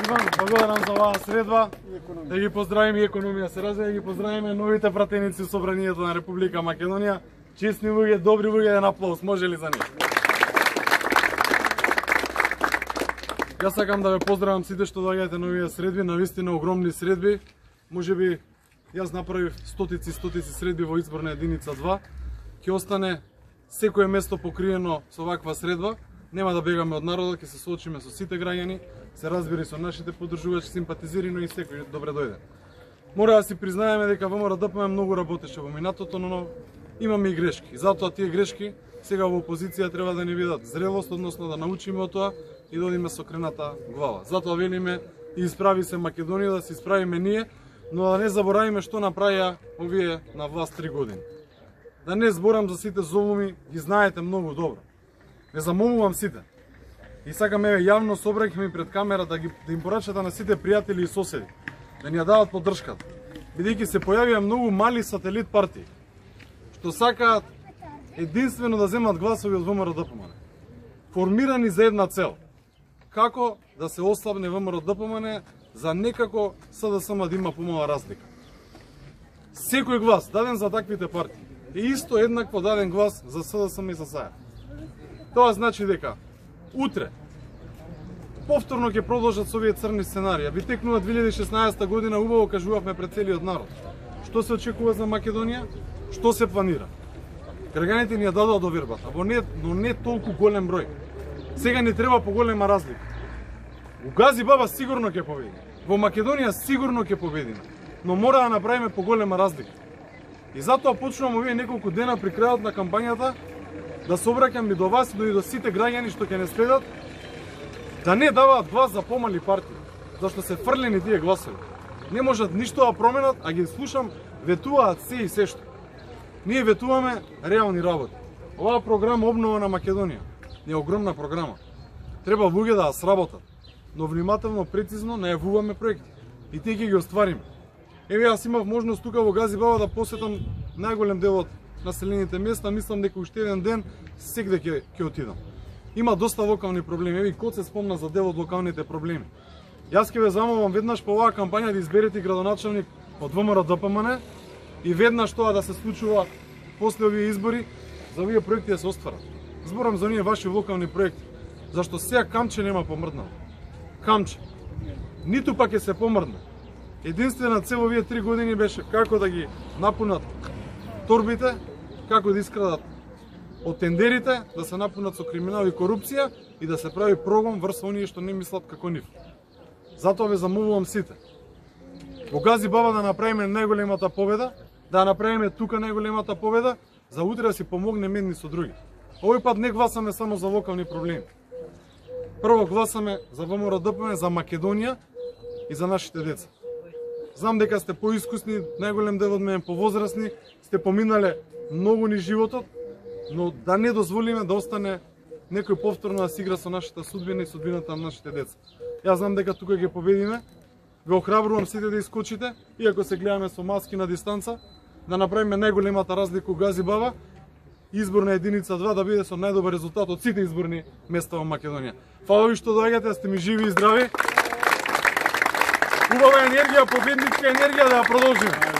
благодарам за оваа средба. Да ги поздравиме и економија се развива, да ги поздравиме новите пратеници во Собранието на Република Македонија. Честни луѓе, добри луѓе, еден аплауз, може ли за нив? Јас сакам да ве поздравам сите што доаѓате на овие средби, навистина огромни средби. Можеби јас направив стотици средби во изборна единица 2. Ќе остане секое место покриено со ваква средба. Нема да бегаме од народот, ќе се соочиме со сите граѓани, се разбери со нашите поддржувачи, симпатизири, но и секој добре дојде. Мора да си признаеме дека ВМРО-ДПМН многу работеше во минатото, но имаме и грешки. И затоа тие грешки сега во опозиција треба да ни видат зрелост, односно да научиме од тоа и да одиме со крената глава. Затоа велиме и исправи се Македонија, да се исправиме ние, но да не заборавиме што направија овие на власт 3 години. Да не зборам за сите золуми, ги знаете многу добро. Ве замолувам сите. И сакам еве јавно собраќме пред камера да им порачате на сите пријатели и соседи да ни ја дават поддршката. Бидејќи се појавија многу мали сателит партии што сакаат единствено да земат гласови од ВМРО-ДПМН. Формирани за една цел. Како да се ослабне ВМРО-ДПМН за некако СДСМ да има помала разлика. Секој глас даден за таквите партии е исто еднакво даден глас за СДСМ и за САЈ. Тоа значи дека утре повторно ќе продолжат со овие црни сценарија. Ви текнува 2016 година, убаво кажувавме пред целиот народ. Што се очекува за Македонија? Што се планира? Граѓаните ни ја дадоа довербата, но не толку голем број. Сега ни треба поголема разлика. У Гази Баба сигурно ќе победиме. Во Македонија сигурно ќе победиме, но мора да направиме поголема разлика. И затоа почнувам овие неколку дена при крајот на кампањата да се обраќам и до вас и до сите граѓани што ќе не следат, да не даваат глас за помали партии, зашто се фрлени тие гласови. Не можат ништо да променат, а ги слушам, ветуваат се и се што. Ние ветуваме реални работи. Оваа програма Обнова на Македонија е огромна програма. Треба луѓе да ја сработат, но внимателно, прецизно најавуваме проекти и тие ќе ги оствариме. Еве јас имав можност тука во Гази Баба да посетам најголем дел од населените места, мислам дека уште еден ден сегде ќе отидам. Има доста локални проблеми, еве код се спомна за дел од локалните проблеми. Јас ќе ве замолам веднаш по оваа кампања да изберете градоначелник од ВМРО-ДПМН и веднаш тоа да се случува после овие избори, за овие проекти да се остварат. Зборам за оние ваши локални проекти, зашто сега камче нема помрднало. Камче. Ниту пак ќе се помрдне. Единствена цел овие 3 години беше како да ги напунат торбите, како да искрадат од тендерите, да се напунат со криминал и корупција и да се прави прогон врз оние што не мислат како нив. Затоа ве замолувам сите. Во Гази Баба да направиме најголемата победа, да направиме тука најголемата победа, за утре да си помогнеме едни со други. Овој пат не гласаме само за локални проблеми. Прво гласаме за ВМРО-ДПМН, за Македонија и за нашите деца. Знам дека сте поискусни, најголем дел од мене повозрасни, сте поминале многу ни животот, но да не дозволиме да остане некој повторно да се игра со нашата судбина и судбината на нашите деца. Јас знам дека тука ќе победиме. Ве охрабрувам сите да искочите, иако се гледаме со маски на дистанца, да направиме најголемата разлика у Гази Баба, изборна единица 2 да биде со најдобар резултат од сите изборни места во Македонија. Фала ви што доаѓате, да сте ми живи и здрави. Убава енергија, победничка енергија, да ја продолжиме.